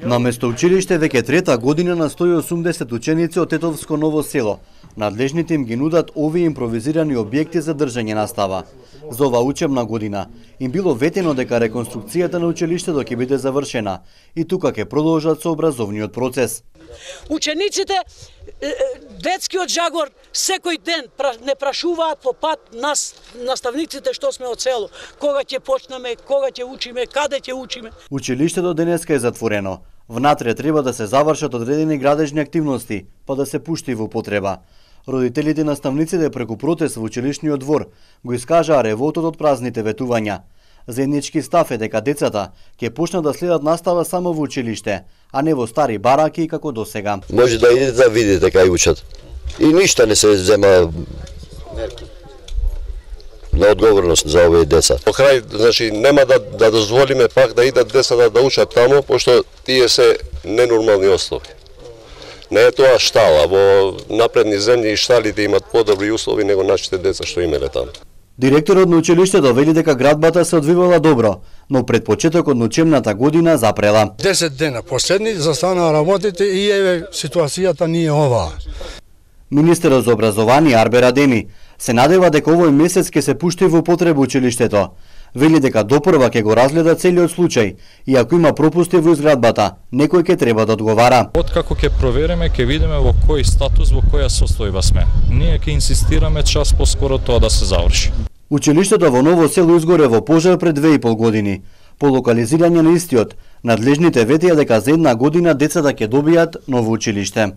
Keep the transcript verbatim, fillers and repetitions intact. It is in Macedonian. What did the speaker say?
На место училиште веќе трета година на сто и осумдесет ученици од Тетовско Ново село. Надлежните им ги нудат овие импровизирани објекти за држање настава. За ова учебна година им било ветено дека реконструкцијата на училиштето ќе биде завршена и тука ќе продолжат со образовниот процес. Учениците, детскиот жагор, секој ден не прашуваат по пат нас, наставниците што сме од село, кога ќе почнеме, кога ќе учиме, каде ќе учиме. Училиштето денеска е затворено. Внатре треба да се завршат одредени градежни активности, па да се пушти во употреба. Родителите и наставниците преку протест во училишниот двор го искажаа револтот од празните ветувања. Заеднички став е дека децата ќе почнат да следат настава само во училиште, а не во стари бараки како досега. Може да идете да видите кај учат. И ништа не се зема на одговорност за овие деца. По крај, значи, нема да, да дозволиме пак да идат децата да учат таму, пошто тие се ненормални услови. Не е тоа штала, во напредни земји и шталите имат подобри услови него нашите деца што имеле таму. Директорот на училиштето вели дека градбата се одвивала добро, но пред почетокот на учебната година запрела. десет дена последни застанаа работите и еве ситуацијата ни е оваа. Министерот за образование Арбер Адеми се надева дека овој месец ќе се пушти во употреба училиштето. Вели дека допрва ќе го разгледа целиот случај и ако има пропусти во изградбата, некој ќе треба да одговара. Откако ќе провериме, ќе видиме во кој статус, во која состојба сме. Ние ќе инсистираме час поскоро тоа да се заврши. Училиштето во Ново село изгоре во пожар пред две и пол години. По локализирање на истиот, надлежните ветија дека за една година децата ќе добијат ново училиште.